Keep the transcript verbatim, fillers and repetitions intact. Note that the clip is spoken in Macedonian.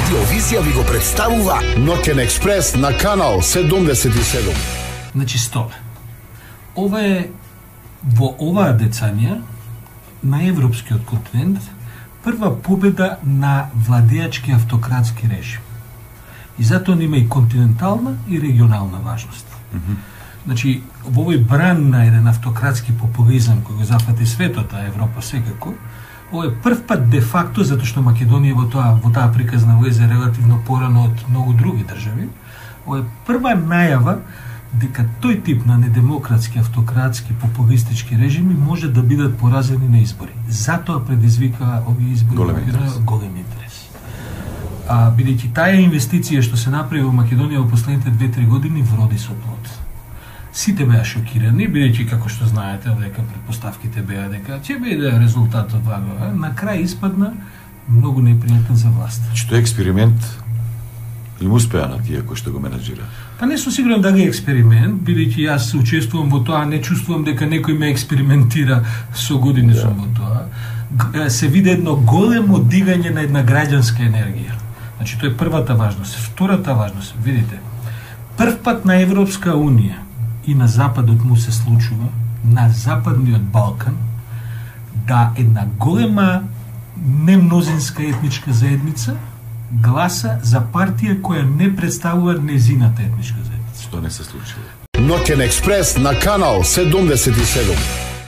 Радиовизија ви го представува Ноќен експрес на канал седумдесет и седум. Значи столе. Ова е во оваа децања на европскиот континент прва победа на владеачки автократски режим. И затоа има и континентална и регионална важност. Mm -hmm. Значи, во овој бран на еден автократски популизам кој го зафати светот, а Европа секако, ова е прв пат де факто, затоа што Македонија во тоа во таа приказна влезе релативно порано од многу други држави, ова е прва најава дека тој тип на недемократски, автократски, популистички режими може да бидат поразени на избори. Затоа предизвика овие избори голем интерес. голем интерес. А бидејќи таа инвестиција што се направи во Македонија во последните две-три години вроди со плод. Сите беа шокирани, бидејќи како што знаете, дека претпоставките беа дека ќе биде резултатот ваго, на крај испадна многу непријатен за власт. Што е експеримент им успеа на тие кои што го менаџира? Па не сум сигурен дали е експеримент, бидејќи јас учествувам во тоа, не чувствувам дека некој ме експериментира, со години yeah. сум во тоа. Се види едно големо дигање на една граѓанска енергија. Значи, тоа е првата важност. Втората важност, видите, прв пат на Европска Унија и на Западот му се случува, на Западниот Балкан, да една голема немнозинска етничка заедница гласа за партија која не представува незината етничка заедница. Што не се случило? Ноќен експрес на канал седумдесет и седум.